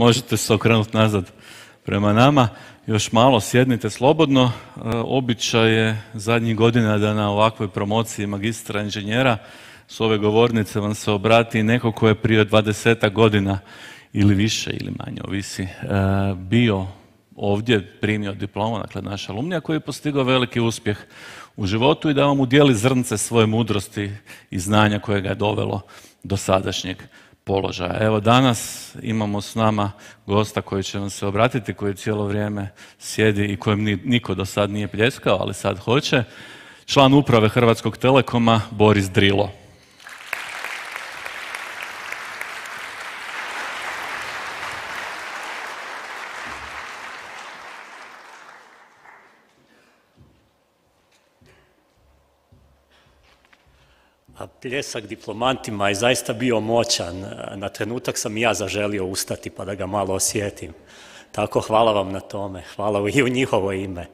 Možete se okrenuti nazad prema nama. Još malo sjednite slobodno. Običaj je zadnjih godina da na ovakvoj promociji magistra inženjera s ove govornice vam se obrati neko ko je prije 20 godina ili više ili manje, ovisi, bio ovdje, primio diplomu, dakle naš alumnija koji je postigao veliki uspjeh u životu i da vam udijeli zrnce svoje mudrosti i znanja koje ga je dovelo do sadašnjeg položaja. Evo danas imamo s nama gosta koji će vam se obratiti, koji cijelo vrijeme sjedi i kojem niko do sad nije pljeskao, ali sad hoće. Član uprave Hrvatskog Telekoma, Boris Drilo. Pljesak diplomantima je zaista bio moćan. Na trenutak sam i ja zaželio ustati pa da ga malo osjetim. Tako hvala vam na tome. Hvala i u njihovo ime.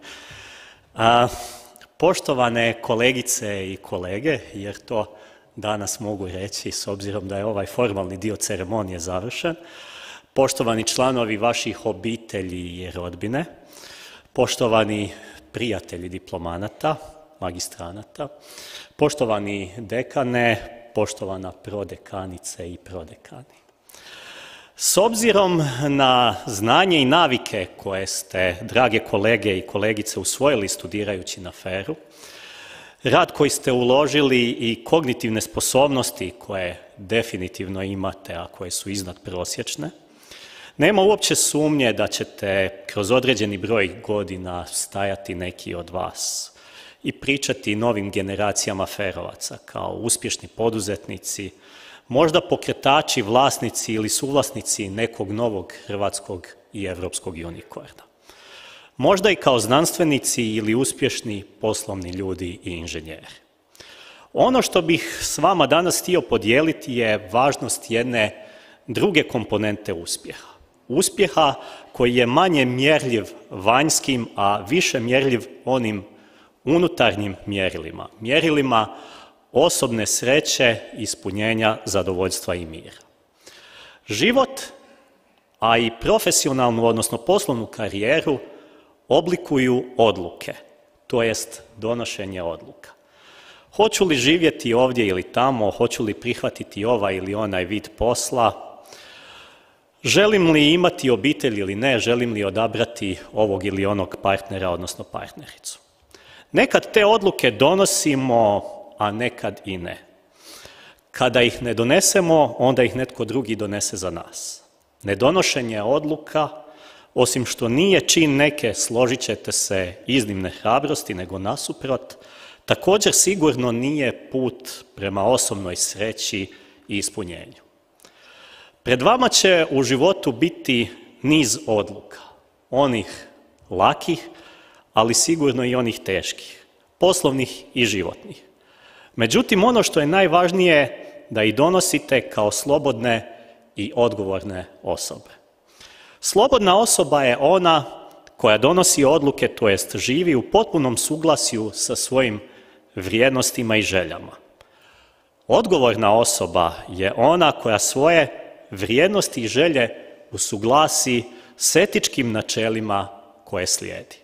Poštovane kolegice i kolege, jer to danas mogu reći s obzirom da je ovaj formalni dio ceremonije završen, poštovani članovi vaših obitelji i rodbine, poštovani prijatelji diplomanata, magistranata, poštovani dekane, poštovana prodekanice i prodekani. S obzirom na znanje i navike koje ste, drage kolege i kolegice, usvojili studirajući na FER-u, rad koji ste uložili i kognitivne sposobnosti koje definitivno imate, a koje su iznadprosječne, nema uopće sumnje da ćete kroz određeni broj godina stajati neki od vas i pričati novim generacijama ferovaca kao uspješni poduzetnici, možda pokretači, vlasnici ili suvlasnici nekog novog hrvatskog i europskog unikorna. Možda i kao znanstvenici ili uspješni poslovni ljudi i inženjeri. Ono što bih s vama danas htio podijeliti je važnost jedne druge komponente uspjeha. Uspjeha koji je manje mjerljiv vanjskim, a više mjerljiv onim unutarnjim mjerilima. Mjerilima osobne sreće, ispunjenja, zadovoljstva i mira. Život, a i profesionalnu, odnosno poslovnu karijeru, oblikuju odluke, to jest donošenje odluka. Hoću li živjeti ovdje ili tamo, hoću li prihvatiti ovaj ili onaj vid posla, želim li imati obitelj ili ne, želim li odabrati ovog ili onog partnera, odnosno partnericu. Nekad te odluke donosimo, a nekad i ne. Kada ih ne donesemo, onda ih netko drugi donese za nas. Nedonošenje odluka, osim što nije čin neke, složit ćete se, iznimne hrabrosti, nego nasuprot, također sigurno nije put prema osobnoj sreći i ispunjenju. Pred vama će u životu biti niz odluka, onih lakih, ali sigurno i onih teških, poslovnih i životnih. Međutim, ono što je najvažnije da ih donosite kao slobodne i odgovorne osobe. Slobodna osoba je ona koja donosi odluke, to jest živi u potpunom suglasju sa svojim vrijednostima i željama. Odgovorna osoba je ona koja svoje vrijednosti i želje usuglasi s etičkim načelima koje slijedi.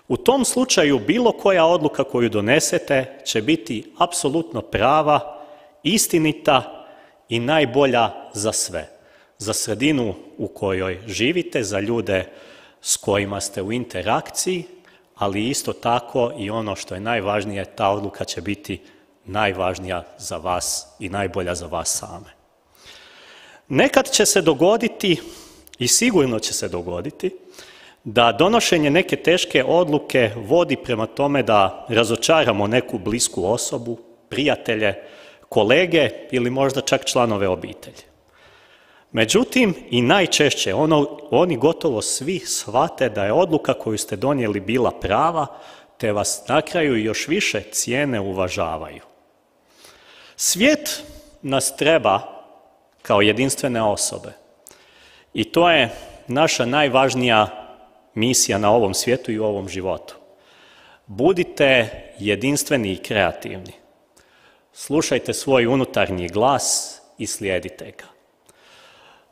U tom slučaju bilo koja odluka koju donesete će biti apsolutno prava, istinita i najbolja za sve. Za sredinu u kojoj živite, za ljude s kojima ste u interakciji, ali isto tako i ono što je najvažnije, ta odluka će biti najvažnija za vas i najbolja za vas same. Nekad će se dogoditi i sigurno će se dogoditi da donošenje neke teške odluke vodi prema tome da razočaramo neku blisku osobu, prijatelje, kolege ili možda čak članove obitelji. Međutim, i najčešće oni gotovo svi shvate da je odluka koju ste donijeli bila prava, te vas na kraju još više cijene, uvažavaju. Svijet nas treba kao jedinstvene osobe i to je naša najvažnija misija na ovom svijetu i u ovom životu. Budite jedinstveni i kreativni. Slušajte svoj unutarnji glas i slijedite ga.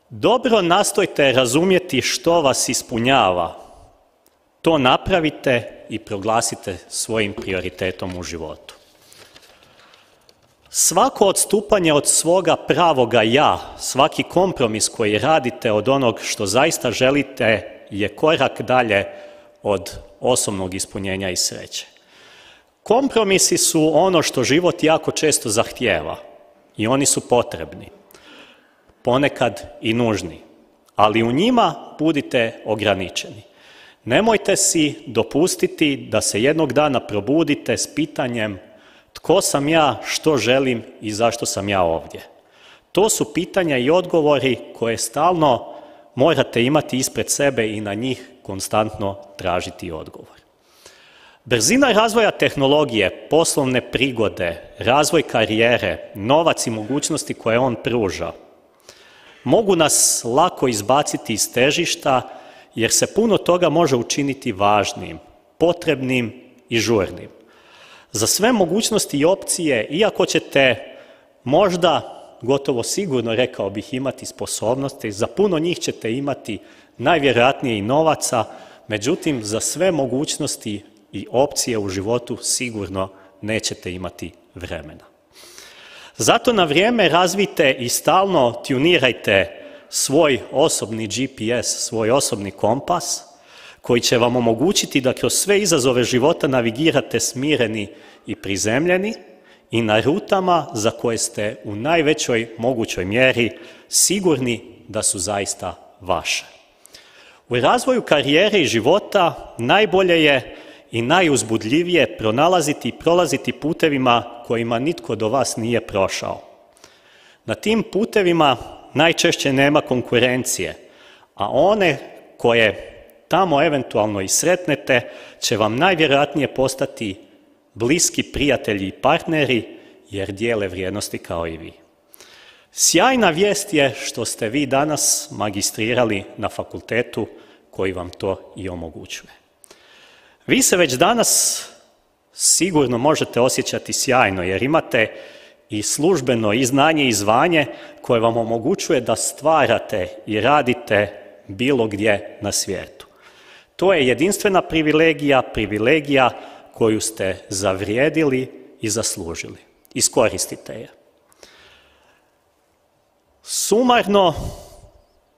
dobro nastojte razumjeti što vas ispunjava. To napravite i proglasite svojim prioritetom u životu. Svako odstupanje od svoga pravoga ja, svaki kompromis koji radite od onog što zaista želite je korak dalje od osobnog ispunjenja i sreće. Kompromisi su ono što život jako često zahtijeva i oni su potrebni, ponekad i nužni, ali u njima budite ograničeni. Nemojte si dopustiti da se jednog dana probudite s pitanjem tko sam ja, što želim i zašto sam ja ovdje. To su pitanja i odgovori koje stalno morate imati ispred sebe i na njih konstantno tražiti odgovor. Brzina razvoja tehnologije, poslovne prigode, razvoj karijere, novac i mogućnosti koje on pruža mogu nas lako izbaciti iz težišta jer se puno toga može učiniti važnim, potrebnim i žurnim. Za sve mogućnosti i opcije, iako ćete možda, gotovo sigurno rekao bih, imati sposobnosti, za puno njih ćete imati najvjerojatnije i novaca, međutim za sve mogućnosti i opcije u životu sigurno nećete imati vremena. Zato na vrijeme razvijte i stalno tunirajte svoj osobni GPS, svoj osobni kompas, koji će vam omogućiti da kroz sve izazove života navigirate smireni i prizemljeni i na rutama za koje ste u najvećoj mogućoj mjeri sigurni da su zaista vaše. U razvoju karijere i života najbolje je i najuzbudljivije pronalaziti i prolaziti putevima kojima nitko do vas nije prošao. Na tim putevima najčešće nema konkurencije, a one koje tamo eventualno i sretnete će vam najvjerojatnije postati bliski prijatelji i partneri jer dijele vrijednosti kao i vi. Sjajna vijest je što ste vi danas magistrirali na fakultetu koji vam to i omogućuje. Vi se već danas sigurno možete osjećati sjajno jer imate i službeno i znanje i zvanje koje vam omogućuje da stvarate i radite bilo gdje na svijetu. To je jedinstvena privilegija koju ste zavrijedili i zaslužili. Iskoristite je. Sumarno,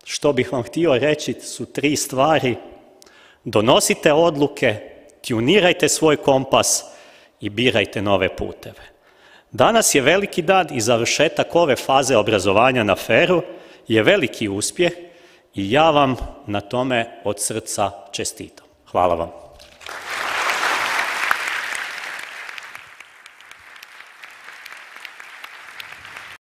što bih vam htio reći, su 3 stvari. Donosite odluke, tunirajte svoj kompas i birajte nove puteve. Danas je veliki dan i završetak ove faze obrazovanja na FER-u je veliki uspjeh i ja vam na tome od srca čestitam. Hvala vam.